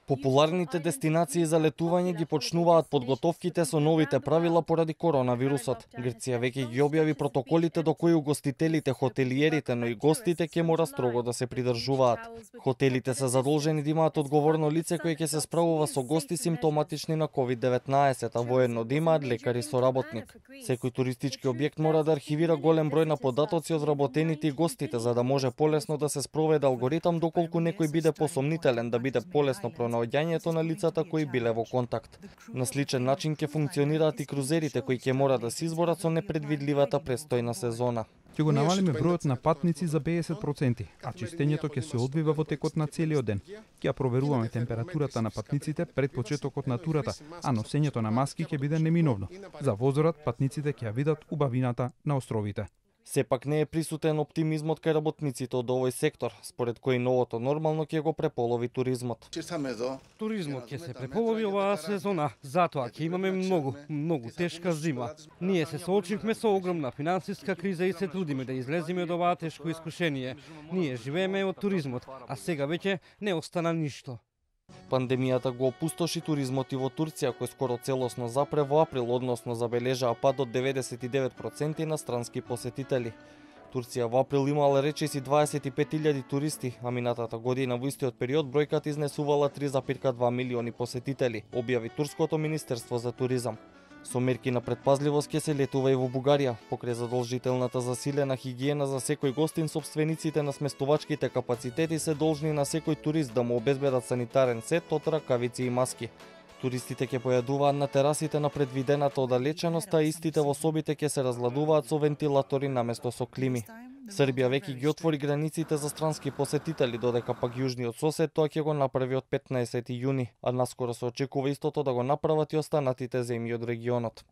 Популарните дестинации за летување ги почнуваат подготовките со новите правила поради коронавирусот. Грција веќе ги објави протоколите до кои угостителите, хотелиерите, но и гостите ќе мора строго да се придржуваат. Хотелите се задолжени да имаат одговорно лице кое ќе се справува со гости симптоматични на COVID-19, а воедно да имаат лекари соработник. Секој туристички објект мора да архивира голем број на податоци од вработените и гостите, за да може полесно да се спроведе алгоритам доколку некој биде посомнителен, да биде полесно пронаоѓањето на лицата кои биле во контакт. На сличен начин ќе функционираат и крузерите кои ќе мора да се изборат со непредвидливата престојна сезона. Ќе го намалиме бројот на патници за 50%, а чистењето ќе се одвива во текот на целиот ден. Ќе проверуваме температурата на патниците пред почетокот на турата, а носењето на маски ќе биде неминовно. За возорат патниците ќе ја видат убавината на островите. Сепак не е присутен оптимизмот кај работниците од овој сектор, според кој новото нормално ќе го преполови туризмот. Туризмот ќе се преполови оваа сезона, затоа ќе имаме многу тешка зима. Ние се соочивме со огромна финансиска криза и се трудиме да излеземе од оваа тешко искушение. Ние живееме од туризмот, а сега веќе не остана ништо. Пандемијата го опустоши туризмот и во Турција, кој скоро целосно запре во април, односно забележаа пад од 99% на странски посетители. Турција во април имала речиси 25.000 туристи, а минатата година во истиот период бројката изнесувала 3,2 милиони посетители, објави Турското министерство за туризам. Со мерки на предпазливост ќе се летува и во Бугарија, покрај задолжителната засилена хигиена за секој гостин, сопствениците на сместувачките капацитети се должни на секој турист да му обезбедат санитарен сет од ракавици и маски. Туристите ќе појадуваат на терасите на предвидената оддалеченост, а истите во собите ќе се разладуваат со вентилатори наместо со клими. Србија веќе ги отвори границите за странски посетители, додека пак јужниот сосед тоа ќе го направи од 15 јуни, а наскоро се очекува истото да го направат и останатите земји од регионот.